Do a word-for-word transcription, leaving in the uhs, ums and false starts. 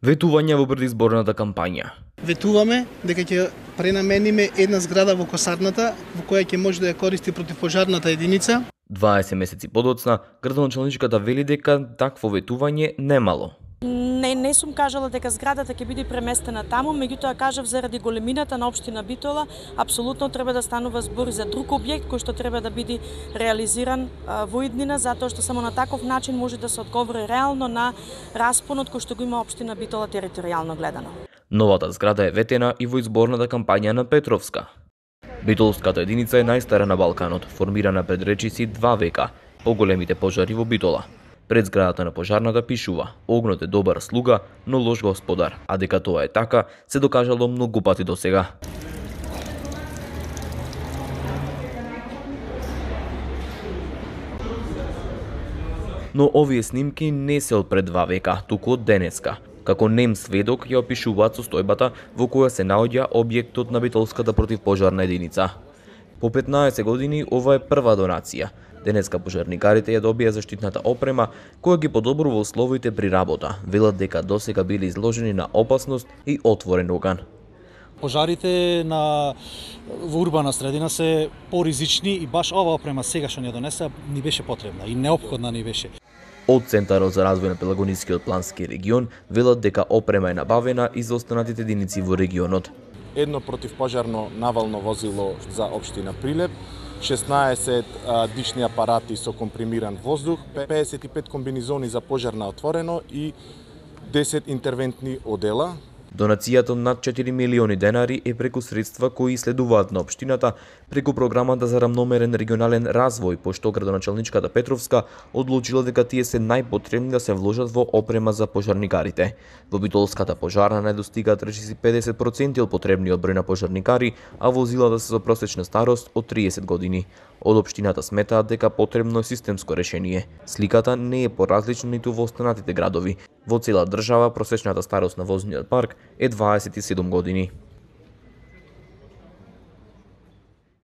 Ветување во предизборната кампања. Ветуваме дека ќе пренамениме една зграда во косарната во која ќе може да ја користи противпожарната единица. дваесет месеци подоцна, градоначалничката вели дека такво ветување немало. Не, не сум кажала дека зградата ќе биде преместена таму, меѓутоа кажав заради големината на општина Битола, апсолутно треба да станува збор за друг објект кој што треба да биде реализиран а, во иднина, затоа што само на таков начин може да се одговори реално на распонот кој што го има општина Битола територијално гледано. Новата зграда е ветена и во изборната кампања на Петровска. Битолската единица е најстара на Балканот, формирана пред речиси два века, поголемите пожари во Битола. Пред зградата на пожарната пишува: "Огнот е добар слуга, но лош господар", а дека тоа е така, се докажало многу пати досега. Но овие снимки не се од пред два века, туку од денеска. Како нем сведок ја опишуваат состојбата во која се наоѓа објектот на Битолската противпожарна единица. По петнаесет години ова е прва донација. Денеска пожарникарите ја добија заштитната опрема која ги подобрува условите при работа. Велат дека досега били изложени на опасност и отворен оган. Пожарите на во урбана средина се поризични и баш ова опрема сега што ни ја донесе ни беше потребна и неопходна ни беше. Од Центарот за развој на Пелагонискиот плански регион велат дека опрема е набавена и за останатите единици во регионот. Едно противпожарно навално возило за општина Прилеп, шеснаесет дишни апарати со компримиран воздух, педесет и пет комбинизони за пожар на отворено и десет интервентни одела. Донацијата над четири милиони денари е преку средства кои следуваат на општината преку програмата за рамномерен регионален развој, пошто градоначалничката Петровска одлучила дека тие се најпотребни да се вложат во опрема за пожарникарите. Во Битолската пожарна не достигаат речиси педесет проценти од потребниот број на пожарникари, а возилата се со просечна старост од триесет години. Од општината сметаат дека потребно е системско решение. Сликата не е поразлична ниту во останатите градови. Во цела држава просечната старост на возниот парк е дваесет и седум години.